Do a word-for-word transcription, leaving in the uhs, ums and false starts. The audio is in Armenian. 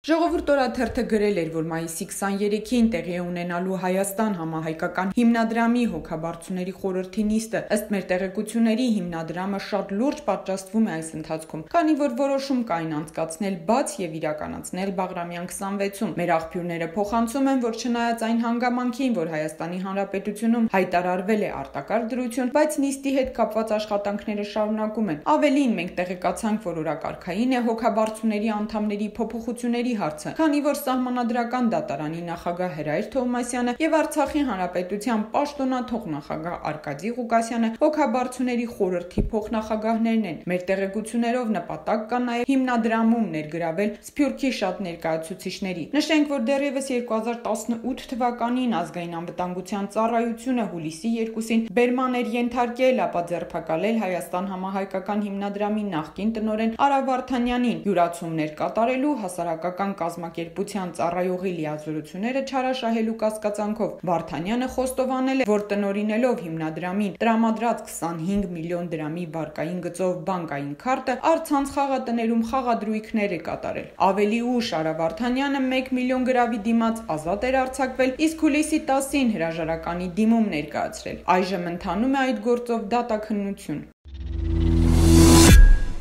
Ժողովուրդ օրաթերթը գրել էր, որ մայիսի քսաներեքին տեղի է ունենալու Հայաստան համահայկական հիմնադրամի հոգաբարձուների խորհրդի նիստը։ Ըստ մեր տեղեկությունների, հիմնադրամը շատ լուրջ պատժաստվում է այս ընթացքում, քանի որ որոշում կային անցկացնել բաց եւ իրականացնել Բաղրամյան քսանվեցում։ Մեր աղբյուրները փոխանցում են, որ չնայած այն հանգամանքին, որ Հայաստանի Հանրապետությունում հայտարարվել է արտակարգ դրություն, բայց նիստի հետ կապված աշխատանքները շարունակում են։ Ավելին, մենք տեղեկացանք, որ օրակարգային է հոգաբարձուների անդամների փոփոխությունների հարցը, քանի որ Սահմանադրական դատարանի նախագահ Հրայր Թովմասյանը եւ Արցախի Հանրապետության պաշտոնաթող նախագահ Արկադի Ղուկասյանը հոգաբարձուների խորհրդի փոխնախագահներն են։ Մեր տեղեկություններով նպատակ կա նաեւ հիմնադրամում ներգրավել Սփյուռքի շատ ներկայացուցիչների։ Նշենք, որ դեռևս երկու հազար տասնութ թվականին ազգային անվտանգության ծառայությունը հուլիսի երկուսին բերման էր ենթարկել, ապա ձերբակալել Հայաստան համահայկական հիմնադրամի նախկին տնօրեն Արա Վարդանյանին, յուրացումներ կատարելու հասարակական կազմակերպության ծառայողի լիազորությունները չարաշահելու կասկածանքով Վարդանյանը խոստովանել է, որ տնօրինելով հիմնադրամին տրամադրած քսանհինգ միլիոն դրամի վարկային գծով բանկային քարտը առցանց խաղատներում խաղադրույքներ է կատարել։ Ավելի ուշ Արա Վարդանյանը մեկ միլիոն գրավի դիմաց ազատ էր արձակվել, իսկ հուլիսի տասին հրաժարականի դիմում ներկայացրել։ Այժմ ընթանում է այդ գործով դատաքննություն։